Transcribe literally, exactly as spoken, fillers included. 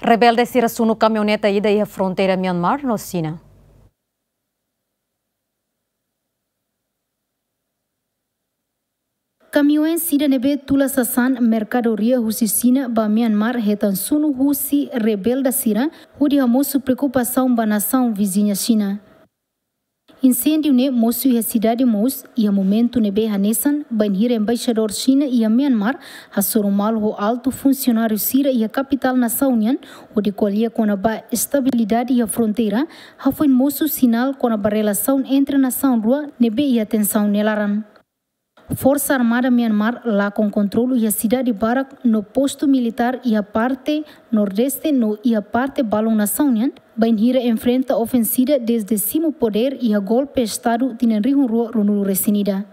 Rebelde sira sunu kamioneta ida iha fronteira Myanmar no Xina. Kamioen sida ne'ebé tula sasán merkadoria husi Xina ba Myanmar hetan sunu husi rebelde sira, hodi hamosu preokupasaun ba nasaun viziña Xina. Inséndiu ne'e mosu iha sidade Mos, iha momentu ne'ebé hanesan bainhira embaixadór Xina iha Myanmar hasoru malu ho altu funsionáriu sira iha kapitál nasaun nian, hodi ko'alia kona-ba estabilidade iha fronteira, hafoin mosu sinál kona-ba relasaun entre nasaun rua ne'ebé iha tensaun nia laran. Forsa Armada Myanmar lakon kontrolu iha sidade barak no postu militár iha parte nordeste no iha parte balun nasaun nian, bainhira enfrenta ofensiva dezde simu podér iha golpe estadu tinan rihun rua ruanulu resin ida.